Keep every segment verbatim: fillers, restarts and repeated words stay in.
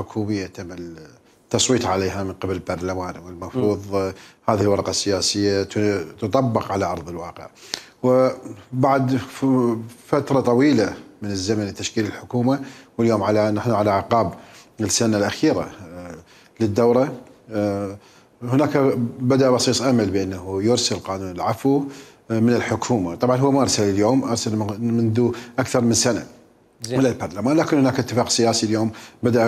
حكوميه تم التصويت عليها من قبل البرلمان، والمفروض هذه الورقه السياسيه تطبق على ارض الواقع. وبعد فتره طويله من الزمن لتشكيل الحكومه، واليوم على نحن على اعقاب السنه الاخيره للدوره، هناك بدأ بصيص امل بانه يرسل قانون العفو من الحكومه. طبعا هو ما ارسل اليوم، ارسل منذ اكثر من سنه الى البرلمان، لكن هناك اتفاق سياسي اليوم بدأ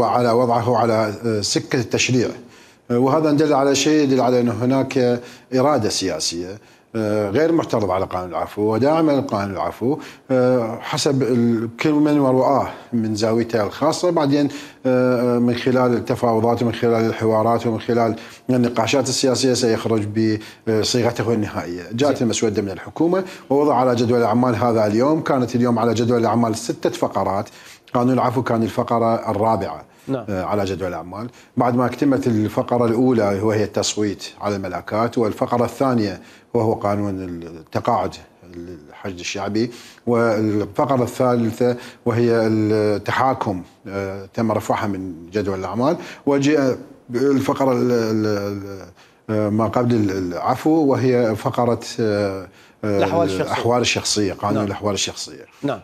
على وضعه على سكه التشريع، وهذا دل على شيء، يدل على انه هناك اراده سياسيه غير معترض على قانون العفو وداعمه لقانون العفو حسب كل من ورؤاه من زاويته الخاصه، بعدين من خلال التفاوضات ومن خلال الحوارات ومن خلال النقاشات السياسيه سيخرج بصيغته النهائيه. جاءت المسوده من الحكومه ووضع على جدول الاعمال هذا اليوم. كانت اليوم على جدول الاعمال سته فقرات، قانون العفو كان الفقره الرابعه نعم. على جدول الأعمال، بعد ما اكتملت الفقرة الأولى وهي التصويت على الملكات، والفقرة الثانية وهو قانون التقاعد الحشد الشعبي، والفقرة الثالثة وهي التحاكم تم رفعها من جدول الأعمال، وجاء الفقرة ما قبل العفو وهي فقرة الأحوال الشخصية, الأحوال الشخصية قانون نعم. الأحوال الشخصية نعم.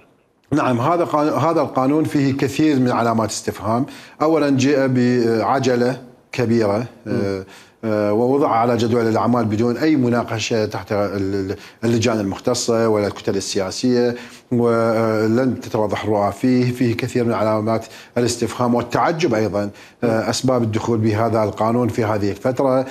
نعم. هذا هذا القانون فيه كثير من علامات استفهام. اولا جاء بعجله كبيره م. ووضع على جدول الاعمال بدون اي مناقشه تحت اللجان المختصه ولا الكتل السياسيه، ولن تتوضح الرؤى فيه. فيه كثير من علامات الاستفهام والتعجب ايضا اسباب الدخول بهذا القانون في هذه الفتره.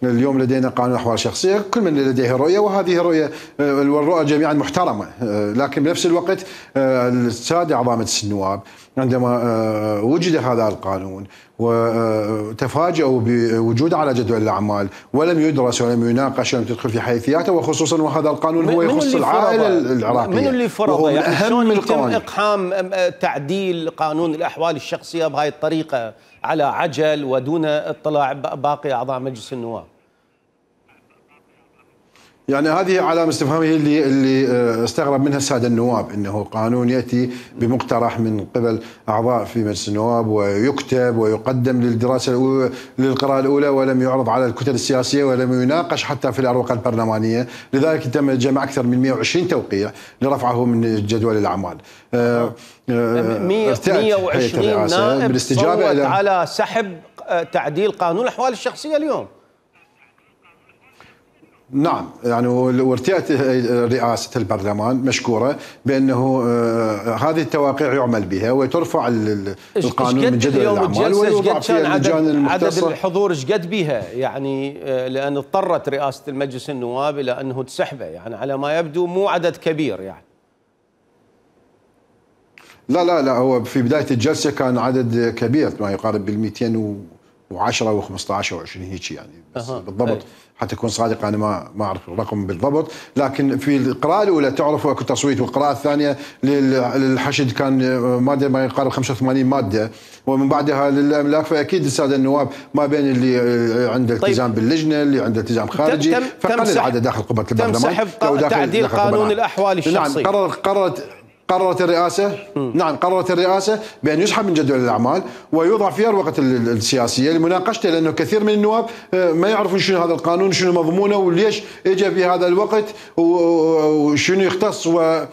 اليوم لدينا قانون الاحوال الشخصيه، كل من لديه رؤيه، وهذه رؤيه والرؤى جميعا محترمه، لكن بنفس الوقت الساده اعضاء مجلس النواب عندما وجد هذا القانون وتفاجؤوا بوجوده على جدول الاعمال ولم يدرس ولم يناقش ولم تدخل في حيثياته، وخصوصا وهذا القانون هو يخص العائله العراقيه. من اللي فرضه؟ يعني اهم يتم اقحام تعديل قانون الاحوال الشخصيه بهذه الطريقه على عجل ودون اطلاع باقي اعضاء مجلس النواب؟ يعني هذه علامة استفهام هي اللي اللي استغرب منها السادة النواب، انه قانون ياتي بمقترح من قبل اعضاء في مجلس النواب ويكتب ويقدم للدراسة الأولى للقراءة الأولى ولم يعرض على الكتل السياسية ولم يناقش حتى في الأروقة البرلمانية، لذلك تم جمع أكثر من مئة وعشرين توقيع لرفعه من جدول الأعمال. مئة وعشرين نائب صوت على سحب تعديل قانون الأحوال الشخصية اليوم. نعم، يعني وارتئت رئاسة البرلمان مشكورة بأنه هذه التواقيع يعمل بها وترفع القانون من جدول الأعمال ويوضع في اللجان المختصة. عدد الحضور ايش قد بها؟ يعني لأن اضطرت رئاسة المجلس النواب إلى أنه تسحبه، يعني على ما يبدو مو عدد كبير يعني. لا لا لا هو في بداية الجلسة كان عدد كبير ما يقارب بال مئتين وعشرة وخمسة عشر وعشرين هيك يعني، بس أه. بالضبط أي. حتى اكون صادق انا ما ما اعرف الرقم بالضبط، لكن في القراءه الاولى تعرف اكو تصويت، والقراءه الثانيه للحشد كان ماده ما يقارب خمسة وثمانين ماده، ومن بعدها للاملاك، فاكيد الساده النواب ما بين اللي عنده التزام طيب. باللجنه، اللي عنده التزام خارجي، فقل العدد داخل قبه البرلمان. تم سحب تعديل قانون الاحوال الشخصيه. نعم، قررت قررت قررت الرئاسة م. نعم قررت الرئاسة بأن يسحب من جدول الأعمال ويوضع في الورقة السياسية لمناقشته، لأنه كثير من النواب ما يعرفون شنو هذا القانون، شنو مضمونه، وليش اجى في هذا الوقت، وشنو يختص و